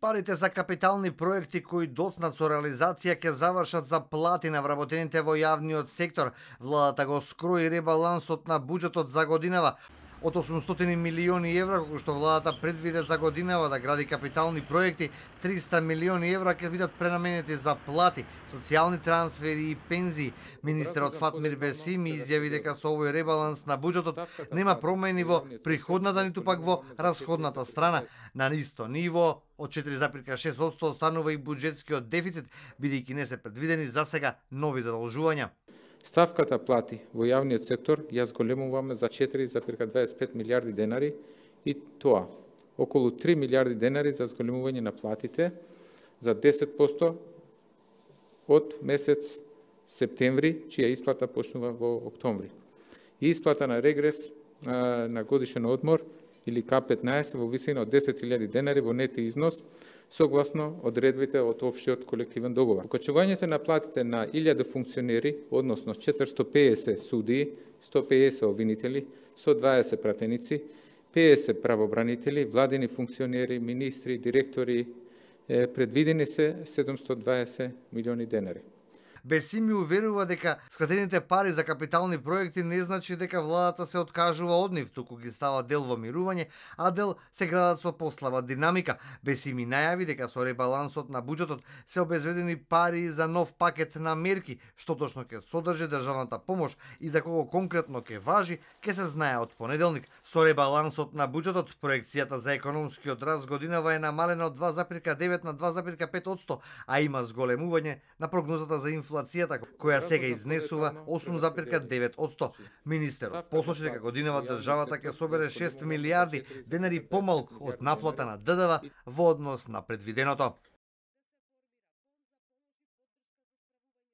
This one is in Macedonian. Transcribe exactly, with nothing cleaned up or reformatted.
Парите за капитални проекти кои доцнат со реализација ќе завршат за плати на вработените во јавниот сектор. Владата го скрои ребалансот на буџетот за годинава од осумстотини милиони евра, колку што владата предвиде за годинава да гради капитални проекти, триста милиони евра ќе бидат пренаменети за плати, социјални трансфери и пензии. Министерот Фатмир Бесими изјави дека со овој ребаланс на буџетот нема промени во приходната ниту пак во расходната страна. На исто ниво од четири запирка шест одсто останува и буџетскиот дефицит, бидејќи не се предвидени за сега нови задолжувања. Ставката плати во јавниот сектор ја зголемуваме за четири запирка дваесет и пет милијарди денари и тоа околу три милијарди денари за зголемување на платите за десет посто од месец септември, чија исплата почнува во октомври. И исплата на регрес а, на годишен одмор или К петнаесет во висина од десет илјади денари во нет износ, согласно одредбите од општиот колективен договор. Покачувањето на платите на илјада функционери, односно четиристо и педесет судии, сто и педесет обвинители, сто и дваесет пратеници, педесет правобранители, владини функционери, министри, директори, предвидени се седумсто и дваесет милиони денари. Бесими уверува дека скратените пари за капитални проекти не значи дека владата се откажува од нив, туку ги става дел во мирување, а дел се градат со послаба динамика. Бесими најави дека со ребалансот на буџетот се обезбедени пари за нов пакет на мерки, што точно ќе содржи државната помош и за кого конкретно ќе важи, ќе се знае од понеделник. Со ребалансот на буџетот проекцијата за економскиот раст годинава е намалена од два запирка девет на два запирка пет одсто, а има зголемување на прогнозата за инфлацијата, која сега изнесува осум запирка девет одсто. Министерот посочи дека годинава државата ќе собере шест милијарди денари помалку од наплата на ДДВ во однос на предвиденото.